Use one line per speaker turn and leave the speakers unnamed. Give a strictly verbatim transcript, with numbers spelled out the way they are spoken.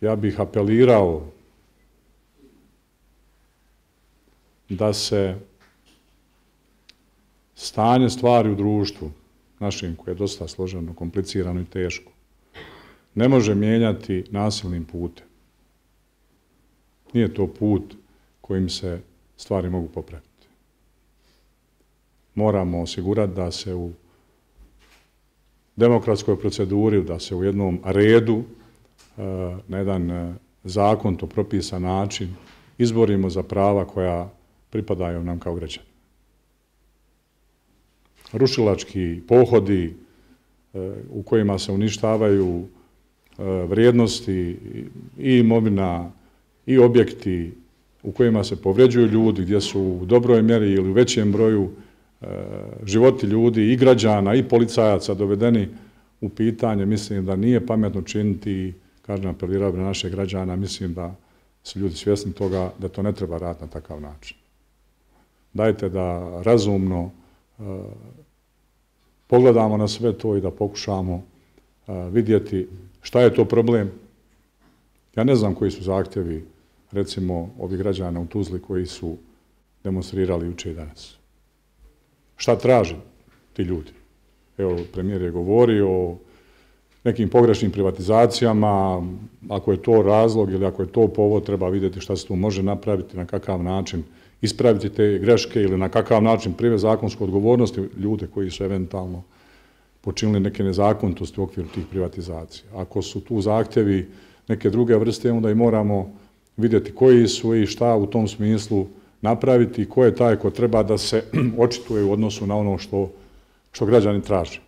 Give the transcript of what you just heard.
ja bih apelirao da se stanje stvari u društvu našem, koje je dosta složeno, komplicirano i teško, ne može mijenjati nasilnim putem. Nije to put kojim se stvari mogu popraviti. Moramo osigurati da se u demokratskoj proceduri, da se u jednom redu, na jedan zakonito propisan način izborimo za prava koja pripadaju nam kao građani. Rušilački pohodi u kojima se uništavaju vrijednosti i imovina i objekti, u kojima se povređuju ljudi, gdje su u dobroj mjeri ili u većem broju životi ljudi i građana i policajaca dovedeni u pitanje, mislim da nije pametno činiti i, kažem, apelirao na naše građana, mislim da su ljudi svjesni toga da to ne treba raditi na takav način. Dajte da razumno uh, pogledamo na sve to i da pokušamo uh, vidjeti šta je to problem. Ja ne znam koji su zahtjevi, recimo, ovih građana u Tuzli koji su demonstrirali jučer i danas. Šta traže ti ljudi? Evo, premijer je govorio o nekim pogrešnim privatizacijama, ako je to razlog ili ako je to povod, treba vidjeti šta se tu može napraviti, na kakav način ispraviti te greške ili na kakav način privesti zakonsku odgovornost ljude koji su eventualno počinili neke nezakonitosti u okviru tih privatizacija. Ako su tu zahtjevi neke druge vrste, onda i moramo vidjeti koji su i šta u tom smislu napraviti i ko je taj ko treba da se očituje u odnosu na ono što, što građani traže.